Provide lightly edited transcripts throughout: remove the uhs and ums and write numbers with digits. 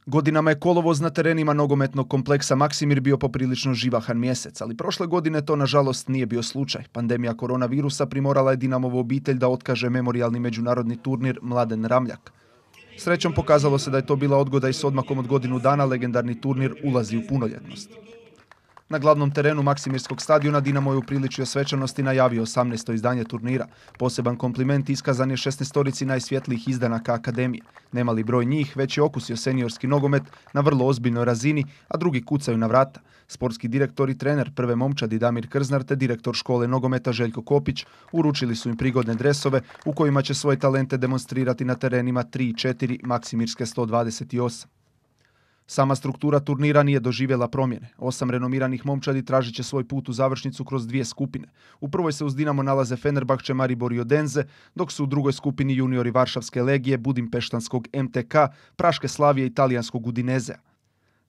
Godinama je kolovoz na terenima nogometnog kompleksa Maksimir bio poprilično živahan mjesec, ali prošle godine to nažalost nije bio slučaj. Pandemija koronavirusa primorala je Dinamovu obitelj da otkaže memorijalni međunarodni turnir Mladen Ramljak. Srećom pokazalo se da je to bila odgoda i s odmakom od godinu dana legendarni turnir ulazi u punoljetnost. Na glavnom terenu Maksimirskog stadiona Dinamo je upriličio svečanost i najavio 18. izdanje turnira. Poseban kompliment iskazan je 16-torici najsvjetlijih izdanaka akademije. Nemali broj njih već je okusio seniorski nogomet na vrlo ozbiljnoj razini, a drugi kucaju na vrata. Sportski direktor i trener prve momčadi Damir Krznar te direktor škole nogometa Željko Kopić uručili su im prigodne dresove u kojima će svoje talente demonstrirati na terenima 3 i 4 Maksimirske 128. Sama struktura turnira nije doživjela promjene. 8 renomiranih momčadi tražit će svoj put u završnicu kroz 2 skupine. U prvoj se uz Dinamo nalaze Fenerbahče, Maribor i Odense, dok su u drugoj skupini juniori Varšavske legije, Budimpeštanskog MTK, Praške Slavije i Talijanskog Udinezea.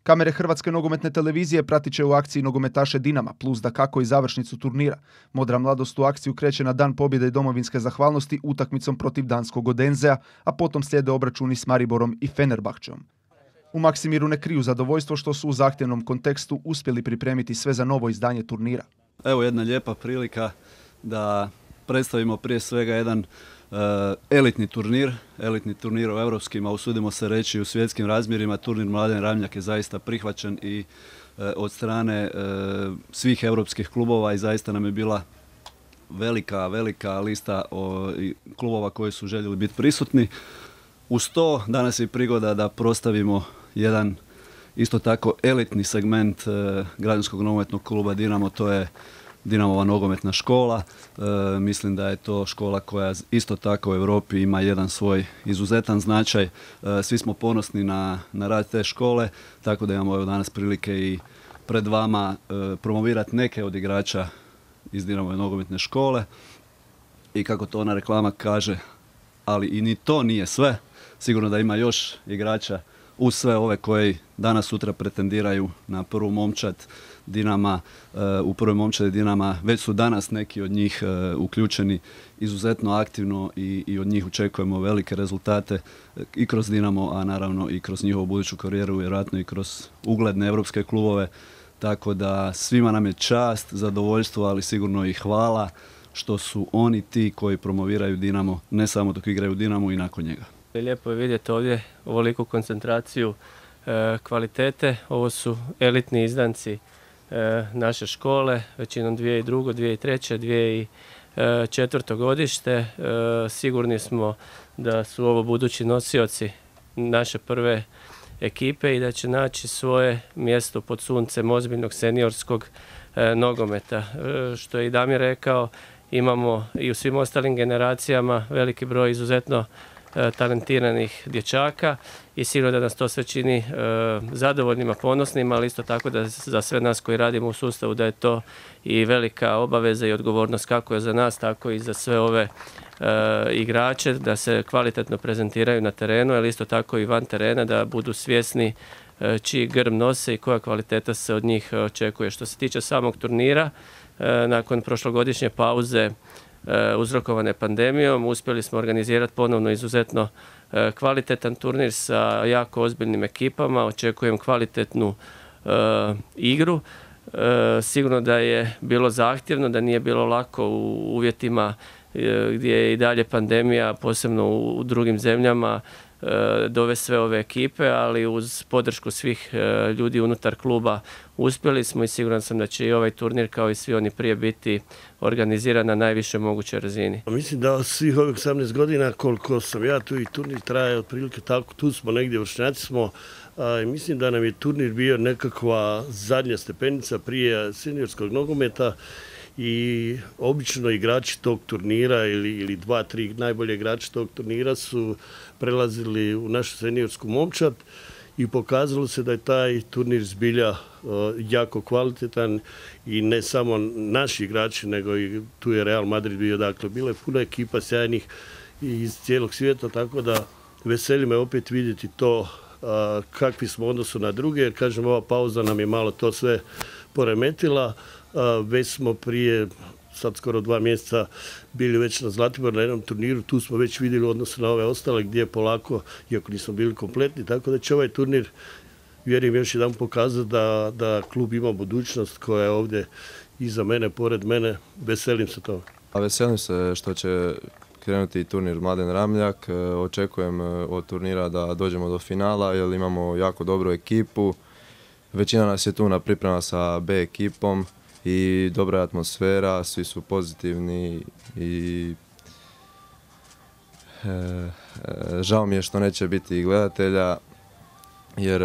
Kamere Hrvatske nogometne televizije pratit će u akciji nogometaše Dinama, plus dakako i završnicu turnira. Modra mladost u akciju kreće na Dan pobjede i domovinske zahvalnosti utakmicom protiv danskog Odensea, a potom slijede obračuni s Mariborom i Fenerbahčeom. U Maksimiru ne kriju zadovoljstvo što su u zahtjevnom kontekstu uspjeli pripremiti sve za novo izdanje turnira. Evo jedna lijepa prilika da predstavimo prije svega jedan elitni turnir u europskim, a usudimo se reći u svjetskim razmjerima. Turnir Mladen Ramljak je zaista prihvaćen i od strane svih europskih klubova i zaista nam je bila velika lista klubova koji su željeli biti prisutni. Uz to danas je prigoda da prostavimo jedan isto tako elitni segment građanskog nogometnog kluba Dinamo, to je Dinamova nogometna škola. Mislim da je to škola koja isto tako u Europi ima jedan svoj izuzetan značaj. Svi smo ponosni na rad te škole, tako da imamo danas prilike i pred vama promovirati neke od igrača iz Dinamove nogometne škole. I kako to ona reklama kaže, ali i ni to nije sve. Sigurno da ima još igrača uz sve ove koji danas sutra pretendiraju na prvu momčad Dinama. U prvoj momčadi Dinama već su danas neki od njih uključeni izuzetno aktivno i od njih očekujemo velike rezultate i kroz Dinamo, a naravno i kroz njihovu buduću karijeru, vjerojatno i kroz ugledne europske klubove. Tako da svima nam je čast, zadovoljstvo, ali sigurno i hvala što su oni ti koji promoviraju Dinamo, ne samo dok igraju Dinamo i nakon njega. Lijepo je vidjeti ovdje ovoliku koncentraciju kvalitete. Ovo su elitni izdanci naše škole, većinom 2002., 2003., 2004. godište. Sigurni smo da su ovo budući nosioci naše prve ekipe i da će naći svoje mjesto pod suncem ozbiljnog seniorskog nogometa. Što je i Damir rekao, imamo i u svim ostalim generacijama veliki broj izuzetno talentiranih dječaka i sigurno da nas to sve čini zadovoljnima, ponosnima, ali isto tako da za sve nas koji radimo u sustavu da je to i velika obaveza i odgovornost kako je za nas, tako i za sve ove igrače da se kvalitetno prezentiraju na terenu, ali isto tako i van terena da budu svjesni čiji grb nose i koja kvaliteta se od njih očekuje. Što se tiče samog turnira, nakon prošlogodišnje pauze uzrokovane pandemijom, uspjeli smo organizirati ponovno izuzetno kvalitetan turnir sa jako ozbiljnim ekipama. Očekujem kvalitetnu igru. Sigurno da je bilo zahtjevno, da nije bilo lako u uvjetima gdje je i dalje pandemija, posebno u drugim zemljama, dovesti sve ove ekipe, ali uz podršku svih ljudi unutar kluba uspjeli smo i siguran sam da će i ovaj turnir kao i svi oni prije biti organiziran na najvišoj mogućoj razini. Mislim da svih ovih 18 godina koliko sam ja tu i turnir traje otprilike tako, tu smo negdje, vršnjaci smo. Mislim da nam je turnir bio nekakva zadnja stepenica prije seniorskog nogometa i obično igrači tog turnira ili 2-3 najbolje igrači tog turnira su prelazili u našu seniorsku momčad i pokazalo se da je taj turnir zbilja jako kvalitetan i ne samo naši igrači, nego i tu je Real Madrid bio, dakle bila je puno ekipa sjajnih iz cijelog svijeta, tako da veseli me opet vidjeti to kakvi smo u odnosu na druge, jer kažem ova pauza nam je malo to sve poremetila. Već smo prije sad skoro 2 mjeseca bili već na Zlatiboru na jednom turniru, tu smo već vidjeli u odnosu na ove ostale gdje polako, iako nismo bili kompletni, tako da će ovaj turnir, vjerujem, još jedan pokazati da klub ima budućnost koja je ovdje iza mene, pored mene. Veselim se toga. Veselim se što će krenuti turnir Mladen Ramljak. Očekujem od turnira da dođemo do finala jer imamo jako dobru ekipu. Većina nas je tu na priprema sa B ekipom i dobra je atmosfera, svi su pozitivni i žao mi je što neće biti gledatelja jer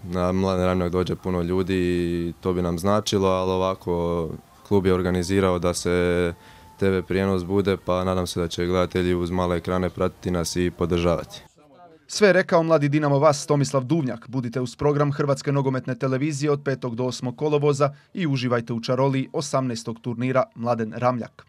na Mladen Ramljak dođe puno ljudi i to bi nam značilo, ali ovako klub je organizirao da se TV prijenos bude, pa nadam se da će gledatelji uz male ekrane pratiti nas i podržavati. Sve je rekao mladi Dinamo Vas Tomislav Duvnjak. Budite uz program Hrvatske nogometne televizije od 5. do 8. kolovoza i uživajte u čaroliji 18. turnira Mladen Ramljak.